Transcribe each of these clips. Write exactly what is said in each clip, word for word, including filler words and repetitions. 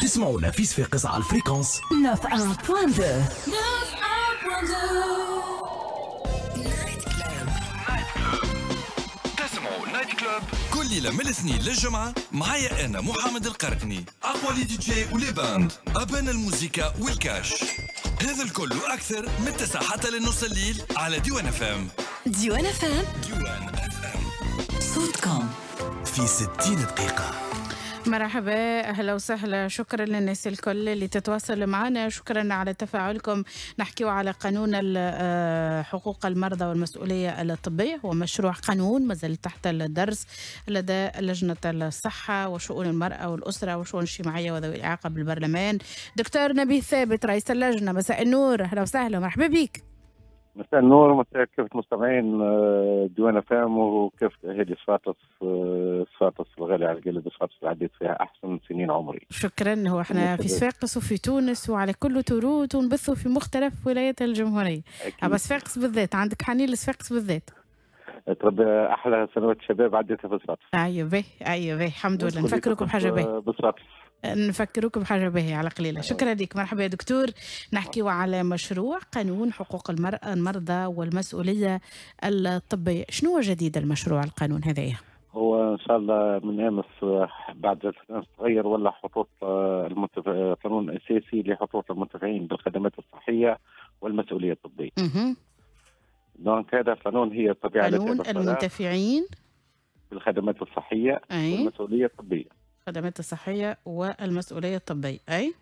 تسمعونا في صفاقس على ال fréquence تسعة واحد فاصلة اثنين. Night Club. تسمعوا Night Club كل ليلة من الاثنين للجمعة معايا أنا محمد القرقني، أقوى les DJ و les bandes، أبان الموسيقى والكاش، هذا الكل وأكثر من التسعة حتى للنص الليل على ديوان اف ام. ديوان اف ام، ديوان اف ام، صوتكم في ستين دقيقة. مرحبا، اهلا وسهلا، شكرا للناس الكل اللي تتواصل معنا، شكرا على تفاعلكم. نحكيو على قانون حقوق المرضى والمسؤولية الطبية، هو مشروع قانون ما زال تحت الدرس لدى لجنة الصحة وشؤون المراة والاسرة وشؤون الاجتماعية وذوي الاعاقة بالبرلمان. دكتور نبيه ثابت رئيس اللجنة، مساء النور، اهلا وسهلا، مرحبا بك. مساء النور، مساء كيف مستمعين ديوان اف ام وكيف هذه صفاقس، صفاقس الغالية على القلب، صفاقس اللي عديت فيها احسن سنين عمري. شكرا. هو احنا في صفاقس وفي تونس وعلى كل تروت ونبثوا في مختلف ولايات الجمهورية. اما صفاقس بالذات عندك حنين لصفاقس بالذات. تربي احلى سنوات شباب عديتها في صفاقس. ايوه باهي، ايوه باهي، الحمد لله. نفكركم بحاجة باهيه. بصفاقس. نفكروك بحاجة باهية على قليلة. شكرا لك، مرحبا يا دكتور. نحكيو على مشروع قانون حقوق المرأة المرضى والمسؤولية الطبية. شنو هو جديد المشروع القانون هذايا؟ هو إن شاء الله من أمس بعد جلسة أمس تغير ولا حقوق المتف... قانون أساسي لحقوق المنتفعين بالخدمات الصحية والمسؤولية الطبية. اها. donc هذا القانون هي الطبيعة قانون المنتفعين بالخدمات الصحية أي. والمسؤولية الطبية. الخدمات الصحية والمسؤولية الطبية، أي؟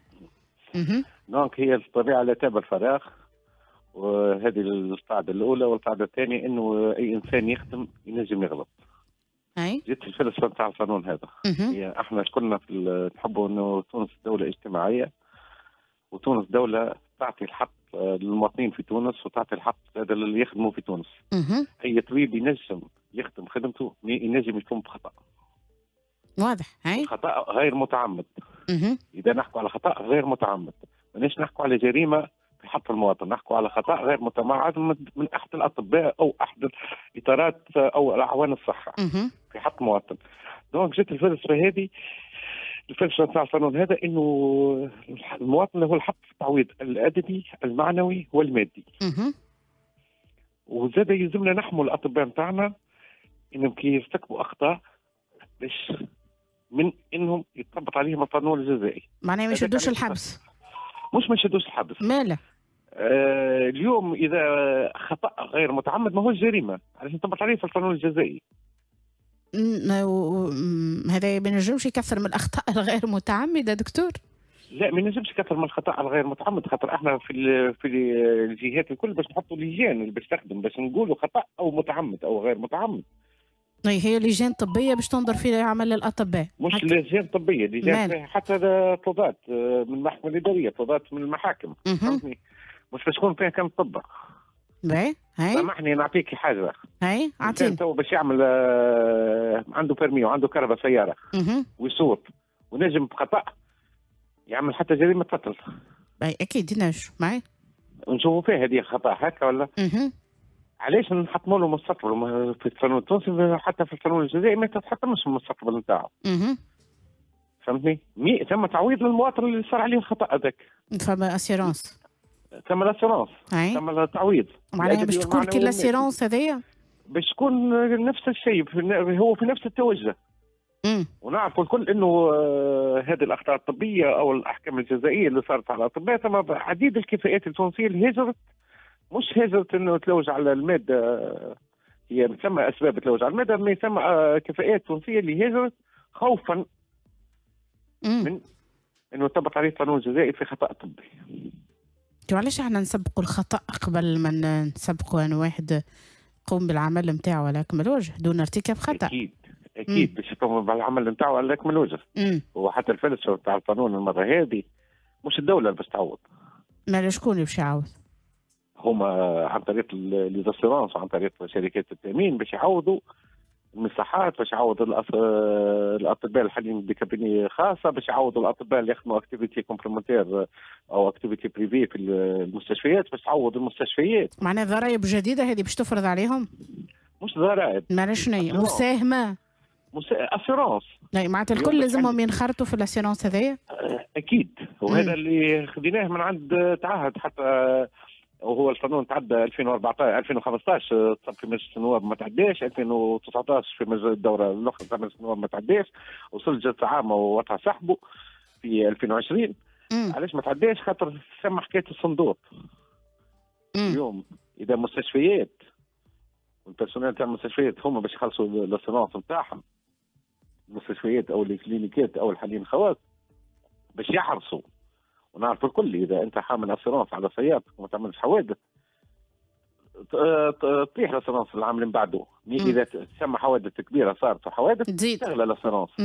اها. donc هي الطبيعة لا تابع الفراغ، وهذه القاعدة الأولى، والقاعدة الثانية إنه أي إنسان يخدم ينجم يغلط. أي؟ جيت الفلسفة نتاع القانون هذا. هي احنا كلنا في نحبوا إنه تونس دولة اجتماعية، وتونس دولة تعطي الحق للمواطنين في تونس وتعطي الحق هذا اللي يخدموا في تونس. اها. أي طبيب ينجم يخدم خدمته ينجم يقوم بخطأ. واضح. هاي خطأ غير متعمد. مه. إذا نحكوا على خطأ غير متعمد ماناش نحكوا على جريمة في حق المواطن، نحكوا على خطأ غير متعمد من أحد الأطباء أو أحد الإطارات أو الأعوان الصحة. مه. في حق المواطن. donc جت الفلسفة هذه، الفلسفة نتاع القانون هذا إنه المواطن له الحق في التعويض الأدبي المعنوي والمادي. مه. وزاد يلزمنا نحموا الأطباء نتاعنا إنهم كي يرتكبوا أخطاء باش من انهم يطبق عليهم القانون الجزائي. معناها ما يشدوش الحبس. مش ما يشدوش الحبس. ماله؟ آه اليوم اذا خطا غير متعمد ما هوش جريمة، علاش نطبق عليه في القانون الجزائي؟ هذا ما ينجمش يكثر من الاخطاء الغير متعمدة دكتور؟ لا ما ينجمش يكثر من الخطا الغير متعمد، خاطر احنا في في الجهات الكل باش نحطوا لجان اللي باش تخدم باش نقولوا خطا او متعمد او غير متعمد. هي لجان طبية باش تنظر في عمل الأطباء. مش لجان طبية، لجان فيها حتى قضاة من المحكمة الإدارية، قضاة من المحاكم. فهمتني؟ مش باش تكون فيها كان طب. باهي، هاي. سامحني نعطيك حاجة. هاي، أعطيني. تو باش يعمل عنده permis وعنده كرهبة سيارة ويسوق ونجم بخطأ يعمل حتى جريمة قتل. باهي أكيد ينجم، معي. نشوفوا فيها هذه خطأ هكا ولا؟ اها. علاش نحطموا له مستقبل في القانون التونسي حتى في القانون الجزائري ما تتحطمش المستقبل نتاعو. اها. فهمتني؟ mais ثم تعويض للمواطن اللي صار عليه الخطا هذاك. فما assurance. ثم l'assurance. ثم التعويض. معناها باش تكون كي l'assurance هذايا؟ باش تكون نفس الشيء، هو في نفس التوجه. امم. ونعرفوا الكل انه هذه الاخطاء الطبية او الاحكام الجزائيه اللي صارت على الاطباء، ثم عديد الكفاءات التونسية اللي هاجرت، مش هاجرت انه تلوج على المادة، هي ثم اسباب تلوج على المادة، ما ثم كفاءات تونسية اللي هاجرت خوفا من انه طبق عليه القانون الجزائي في خطا طبي. علاش احنا نسبقوا الخطا قبل ما نسبقوا ان واحد يقوم بالعمل نتاعو على اكمل وجه دون ارتكاب خطا؟ اكيد اكيد باش يقوم بالعمل نتاعو على اكمل وجه. وحتى الفلسفة نتاع القانون المرة هذه مش الدولة اللي باش تعوض. ما شكون اللي باش يعوض؟ هما عن طريق les assurances وعن طريق شركات التامين باش يعوضوا المصحات، باش يعوضوا الاطباء الحاليين ب cabinets خاصة، باش يعوضوا الاطباء اللي يخدموا activité complémentaire او activité privée في المستشفيات، باش تعوض المستشفيات. معناها ضرائب جديدة هذه باش تفرض عليهم؟ مش ضرائب. معناها شنو هي؟ مساهمة؟ assurance. اي معناتها الكل لازمهم ينخرطوا في ال assurance هذايا؟ اكيد، وهذا اللي خديناه من عند تعهد، حتى وهو القانون تعدى ألفين وأربعطاش ألفين وخمسطاش تصب في مجلس النواب ما تعداش، ألفين وتسعطاش في مجلس الدورة الاخرى تاع مجلس النواب ما تعداش، وصل جلسه عامة ووقع سحبه في ألفين وعشرين. مم. علاش ما تعداش؟ خاطر ثم حكاية الصندوق. مم. اليوم اذا مستشفيات وال personnel تاع المستشفيات هما باش يخلصوا l'assurance نتاعهم، المستشفيات او الكلينيكات او الحالين الخواص باش يحرصوا، ونعرف الكل اذا انت حامل assurance على سيارتك وما تعملش حوادث تطيح l'assurance العام اللي من بعده، اذا ثم حوادث كبيرة صارت وحوادث تزيد تغلى l'assurance،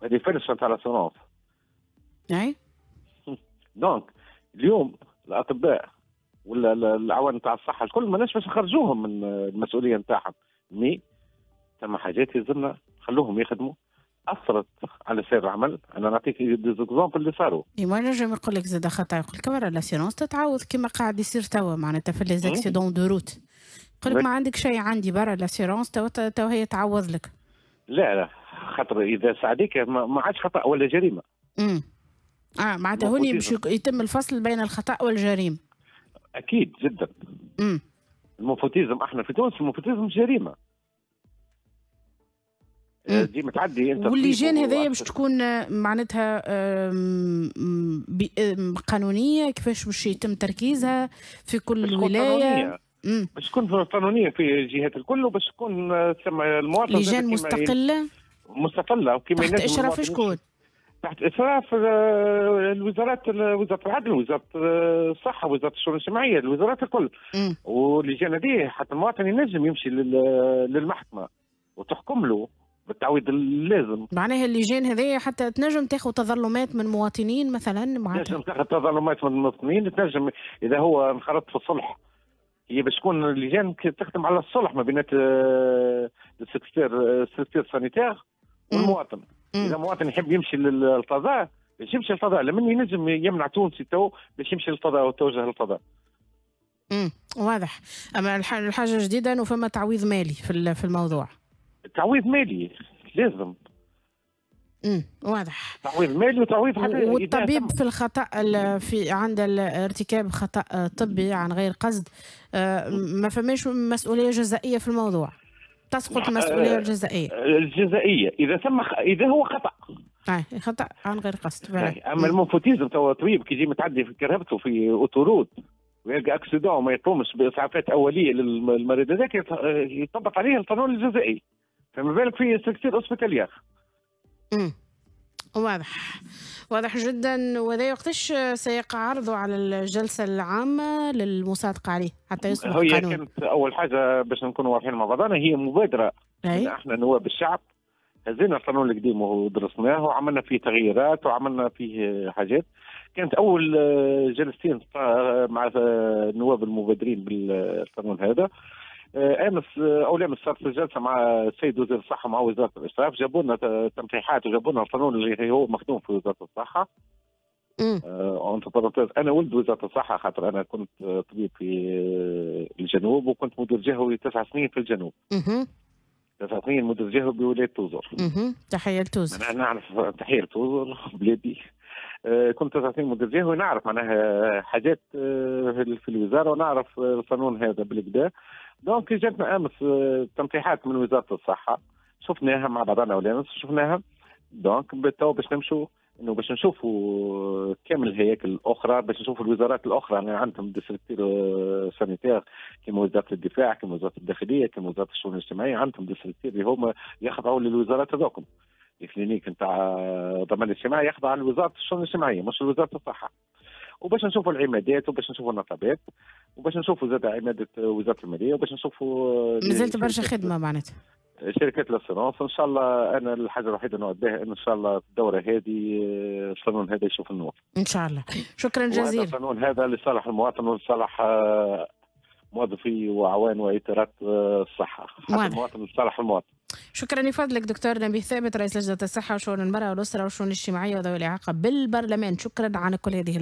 هذه فرصة تاع l'assurance. اي donc اليوم الاطباء ولا الاعوان تاع الصحة الكل ماناش باش نخرجوهم من المسؤولية نتاعهم، mais ثم حاجات يلزمنا نخلوهم يخدموا اثرت على سير العمل. انا نعطيك des exemples اللي صاروا. اي ما نجم يقول لك زاد خطا، يقول لك برا l'assurance تتعوض كما قاعد يصير توا معناتها في les accidents de route، يقول لك ما عندك شيء عندي برا l'assurance توا توا هي تعوض لك. لا لا، خاطر اذا ساعديك ما عادش خطا ولا جريمة. امم اه معناتها هوني باش يتم الفصل بين الخطا والجريمه. اكيد جدا. امم ال menfoutisme احنا في تونس ال menfoutisme جريمة. ديما تعدي انت. واللجان هذيا باش تكون معناتها قانونية، كيفاش باش يتم تركيزها في كل ولاية؟ باش تكون قانونية في الجهات الكل، وباش تكون ثم المواطن لجان مستقلة مستقلة وكما تحت اشراف شكون؟ تحت اشراف الوزارات، وزارة العدل، وزارة الصحة، وزارة الشؤون الاجتماعية، الوزارات الكل. واللجان هذه حتى المواطن ينجم يمشي للمحكمة وتحكم له بالتعويض اللازم. معناها اللجان هذيا حتى تنجم تاخذ تظلمات من مواطنين مثلا؟ معناتها تنجم تاخذ تظلمات من المواطنين، تنجم اذا هو انخرط في الصلح، هي باش تكون اللجان تخدم على الصلح ما بين ال structure ال structure sanitaire والمواطن. اذا مواطن يحب يمشي للقضاء باش يمشي للقضاء، لمن ينجم يمنع تونسي تو باش يمشي للقضاء وتوجه للقضاء. امم واضح. اما الحاجة الجديدة انه فما تعويض مالي في في الموضوع. تعويض مالي لازم. امم واضح. تعويض مالي وتعويض حتى والطبيب في الخطا في عند ارتكاب خطا طبي عن غير قصد ما فماش مسؤولية جزائيه في الموضوع، تسقط المسؤولية الجزائيه. الجزائيه اذا ثم اذا هو خطا. اه خطا عن غير قصد. اما ال menfoutisme توا طبيب كي يجي متعدي في كرهبته في autoroute ويلقى accident وما يقومش باسعافات اوليه للمريض هذاك يطبق عليه القانون الجزائي، فما بالك في structure hospitalière. امم واضح، واضح جدا. وهذا وقتاش سيقع عرضه على الجلسة العامة للمصادقه عليه حتى يصبح قانون؟ هي كانت اول حاجة باش نكونوا واضحين مع بعضنا، هي مبادرة أي؟ احنا نواب الشعب هزينا القانون القديم ودرسناه وعملنا فيه تغييرات وعملنا فيه حاجات. كانت اول جلستين مع النواب المبادرين بالقانون هذا. امس او امس صارت جلسه مع السيد وزير الصحة مع وزارة الاشراف، جابوا لنا تنقيحات وجابوا لنا القانون اللي هو مخدوم في وزارة الصحة. entre parenthèses انا ولد وزارة الصحة، خاطر انا كنت طبيب في الجنوب وكنت مدير جهوي تسع سنين في الجنوب. تسع سنين مدير جهوي بولاية توزر. تحية لتوزر. انا نعرف، تحية لتوزر بلادي. كنت تسع سنين مدير جهوي، نعرف معناها حاجات في الوزارة ونعرف القانون هذا بالكدا. donc جاتنا امس تنقيحات من وزارة الصحة، شفناها مع بعضنا ولا امس شفناها. donc تو باش نمشوا انه باش نشوفوا كامل الهياكل الاخرى، باش نشوفوا الوزارات الاخرى اللي عندهم des structures sanitaires كيما وزارة الدفاع، كيما وزارة الداخلية، كيما وزارة الشؤون الاجتماعية، عندهم des structures اللي هما يخضعوا للوزارات هذوكم. ال clinique نتاع الضمان الاجتماعي يخضع لوزارة الشؤون الاجتماعية مش لوزارة الصحة. وباش نشوفوا العمادات وباش نشوفوا النقابات وباش نشوفوا زاد عماده وزارة المالية وباش نشوفوا مازالت برشا خدمة معناتها شركات l'assurance. ان شاء الله انا الحاجة الوحيدة نوعد بها ان شاء الله في الدورة هذه القانون هذا يشوف النور ان شاء الله. شكرا جزيلا. القانون هذا لصالح المواطن ولصالح موظفي واعوان واطارات الصحة، حتى المواطن لصالح المواطن. شكرا لفضلك دكتور نبيه ثابت، رئيس لجنة الصحة وشؤون المراة والاسرة والشؤون الاجتماعية وذوي الاعاقة بالبرلمان. شكرا على كل هذه